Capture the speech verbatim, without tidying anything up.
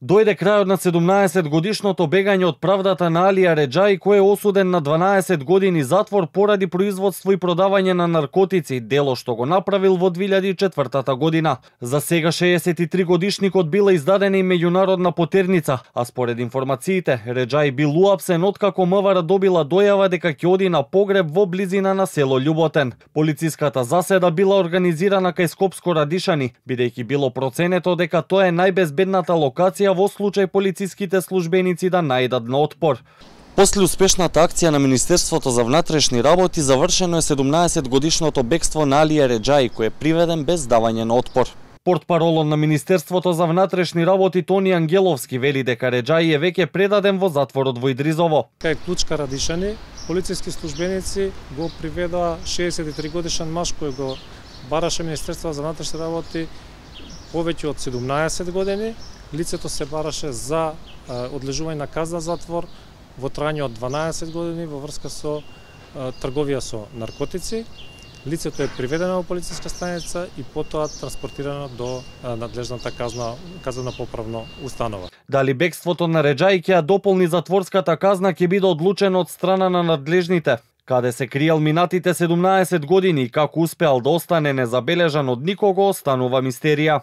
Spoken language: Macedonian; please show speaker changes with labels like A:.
A: Дојде крајот на седумнаесет годишното бегање од правдата на Алија Реџаи, кој е осуден на дванаесет години затвор поради производство и продавање на наркотици, дело што го направил во две илјади и четвртата година. За сега шеесет и три годишникот била издадена и меѓународна потерница, а според информациите, Реџаи бил уапсен откако МВР добила дојава дека ќе оди на погреб во близина на село Љуботен. Полициската заседа била организирана кај Скопско Радишани, бидејќи било проценето дека тоа е најбезбедната локација во случај полициските службеници да најдат на отпор. После успешната акција на Министерството за внатрешни работи завршено е седумнаесет годишното бегство на Алија Реџаи, кој е приведен без давање на отпор. Портпаролот на Министерството за внатрешни работи Тони Ангеловски вели дека Реџаи е веќе предаден во затворот во Идризово.
B: Кај Клучка Радишани, полициски службеници го приведоа шеесет и три годишен маж кој го бараше Министерството за внатрешни работи повеќе од седумнаесет години. Лицето се бараше за одлежување на казна затвор во трајање од дванаесет години во врска со трговија со наркотици. Лицето е приведено во полициска станица и потоа транспортирано до надлежната казна, казна поправна установа.
A: Дали бегството на Реџаи ќе ја дополни затворската казна ќе биде одлучено од страна на надлежните. Каде се криел минатите седумнаесет години и како успеал да остане незабележан од никого, останува мистерија.